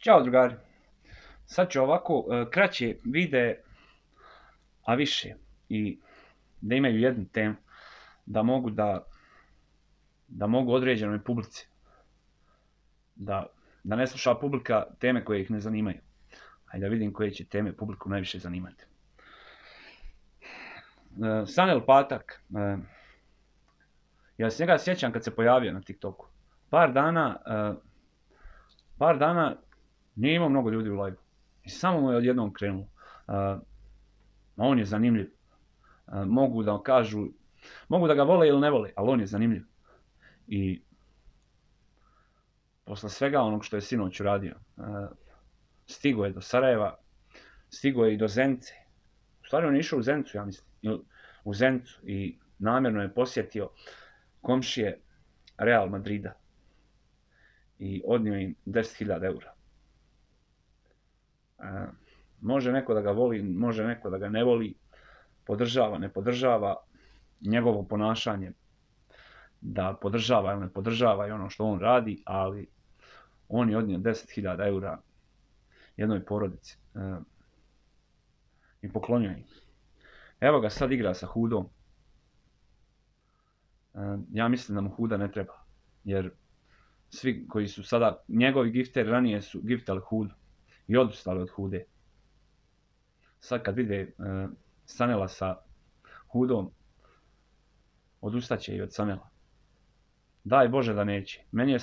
Ćao drugari, sad ću ovako kraće videe, a više i da imaju jednu temu, da mogu određenoj publici, da ne sluša publika teme koje ih ne zanimaju, a da vidim koje će teme publiku najviše zanimati. Sanel Patak, ja se njega sjećam kad se pojavio na TikToku. Par dana nije imao mnogo ljudi u live. I samo mu je odjednom krenulo. On je zanimljiv. Mogu da ga vole ili ne vole, ali on je zanimljiv. I posle svega onog što je sinoć uradio, stigo je do Sarajeva, stigo je i do Zenice. U stvari on je išao u Zenicu, ja mislim. U Zenicu i namjerno je posjetio komšije Real Madrida. I odnio im 10.000 eura. Može neko da ga voli, može neko da ga ne voli, podržava, ne podržava njegovo ponašanje, da podržava ili ne podržava i ono što on radi, ali on je odnio 10.000 eura jednoj porodici i poklonio im. Evo ga sad igra sa Hudom. Ja mislim da mu Huda ne treba, jer svi koji su sada njegovi gifteri ranije su giftali Hudu i odustali od Hude. Sad kad vide Sanela sa Hudom, odustaće i od Sanela. Daj Bože da neće. Meni je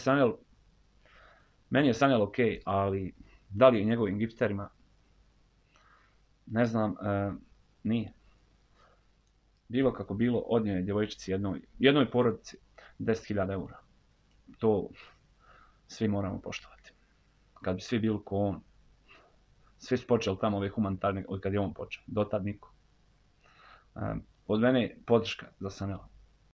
Sanel ok, ali da li je njegovim gifterima, ne znam, nije. Bilo kako bilo, odnio je djevojčici jednoj porodici 10.000 eura. To svi moramo poštovati. Kad bi svi bili ko on, svi su počeli tamo ove humanitarne, od kad je on počeo, dotad niko. Od mene podrška za Sanela.